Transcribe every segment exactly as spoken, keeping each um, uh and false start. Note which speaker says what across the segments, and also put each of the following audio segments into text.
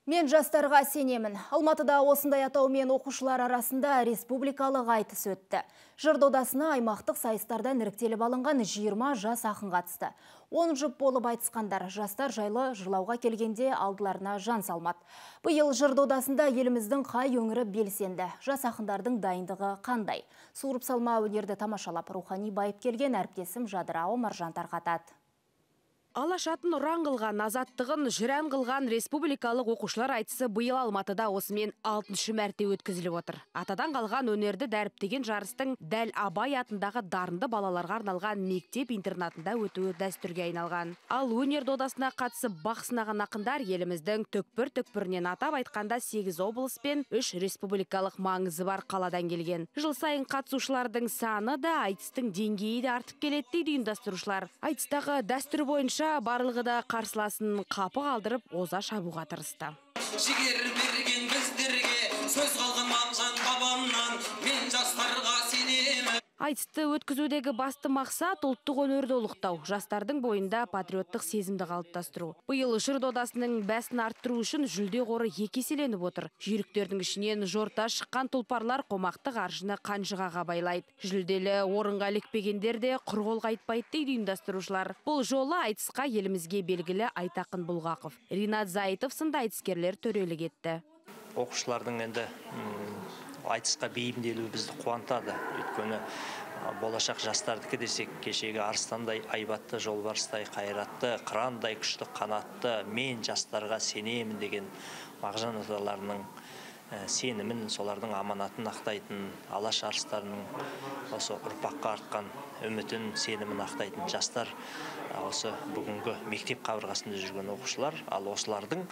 Speaker 1: Мен жастарға сенемін. Алматыда осындай атаумен оқушылар арасында республикалық айтыс өтті. Жыр додасына аймақтық сайыстардан іріктеліп алынған жиырма жас ақын қатысты. он жұп болып айтысқандар жастар жайлы жырлауға келгенде алдыларына жан салмады. Биыл жыр додасында еліміздің қай өңірі белсенді. Жас ақындардың дайындығы қандай? Суырып салма өнерді тамашалап рухани байып келген әріптесім Жадыра Омаржан тарқатады.
Speaker 2: Алашатын ұран қылған, азаттығын жүрән қылған республикалық оқушылар айтысы биыл Алматыда осымен алтыншы мәрте өткізіліп отыр. Атадан қалған өнерді дәріптеген жарыстың дәл Абай атындағы дарынды балаларға арналған мектеп интернатында өтуі дәстүрге айналған. Ал өнер додасына қатысып бақ сынаған ақындар еліміздің түкпір-түкпірінен, атап айтқанда сегіз облыс пен үш республикалық маңызы бар қаладан келген. Жыл сайын қатысушылардың саны да, айтыстың деңгейі де артып келеді дейді ұйымдастырушылар. Айтыстағы дәстүр бойынша барлығы да қарсыласын қапы қалдырып, оза шабуға тырысты.
Speaker 3: Жігер берген біздерге сөз қалған мағжан бабамнан, мен жастарға сенемін.
Speaker 2: Айтысты өткізудегі басты мақсат ұлттық өнерді ұлықтау, жастардың бойында патриоттық сезімді қалыптастыру. Биыл жыр додасының бәсін арттыру үшін жүлде қоры екі еселеніп отыр. Жүйріктердің ішінен жорта шыққан тұлпарлар қомақты қаржыны қанжығаға байлайды. Жүлделі орынға ілікпегендер де құр қол қайтпайды дейді ұйымдастырушылар. Бұл жолы айтысқа елімізге белгілі Айтақын Бұлғақов, Ринат Зайытов сынды айтыскерлер төрелік етті.
Speaker 4: Оқушылардың енді айтысқа бейімделуі бізді қуантады. Өйткені болашақ жастардікі десек, кешегі арыстандай айбатты, жолбарыстай қайратты, қырандай күшті қанатты, мен жастарға сенемін деген мағжан аталарының сенімін, солардың аманатын ақтайтын, алаш арыстарының осы ұрпаққа артқан үмітін, сенімін ақтайтын жастар осы бүгінгі мектеп қабырғасында жүрген оқушылар. Ал осылардың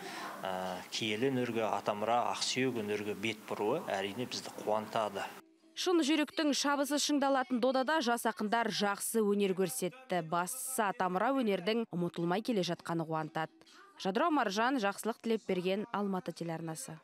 Speaker 4: киелі өнерге, атамұра, ақсүйек өнерге бет бұруы әрине бізді қуантады.
Speaker 2: Шын жүректің шабысы шыңдалатын додада жас ақындар жақсы өнер көрсетті. Бастысы атамұра өнердің ұмытылмай келе жатқаны қуантады. Жадыра Омаржан, жақсылық тілеп берген Алматы телеарнасы.